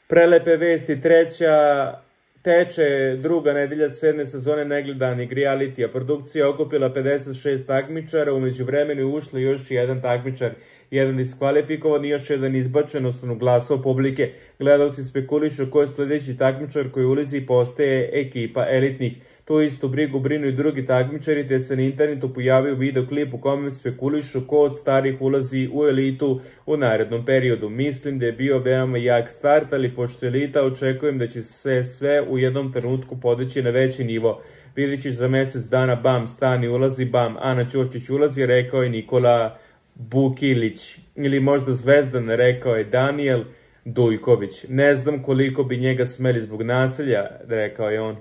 Prelepe vesti, teče druga nedelja 7. sezone negledanih realitija. Produkcija je okupila 56 takmičara, umeđu vremenu je ušlo još jedan takmičar, jedan diskvalifikovan i još jedan izbačen, odnosno glasao publike. Gledalci spekulišu ko je sledeći takmičar koji ulizi postaje ekipa elitnih. Tu istu brigu brinu i drugi takmičari, te se na internetu pojavio videoklip u kome spekulišu ko od starih ulazi u elitu u narednom periodu. Mislim da je bio veoma jak start, ali pošto elita očekujem da će se sve u jednom trenutku podići na veći nivo. Vidjet ćeš za mesec dana, bam, Stani ulazi, bam, Ana Ćurčić ulazi, rekao je Nikola Bukilić. Ili možda Zvezdan, rekao je Daniel Dujković. Ne znam koliko bi njega smeli zbog nasilja, rekao je on.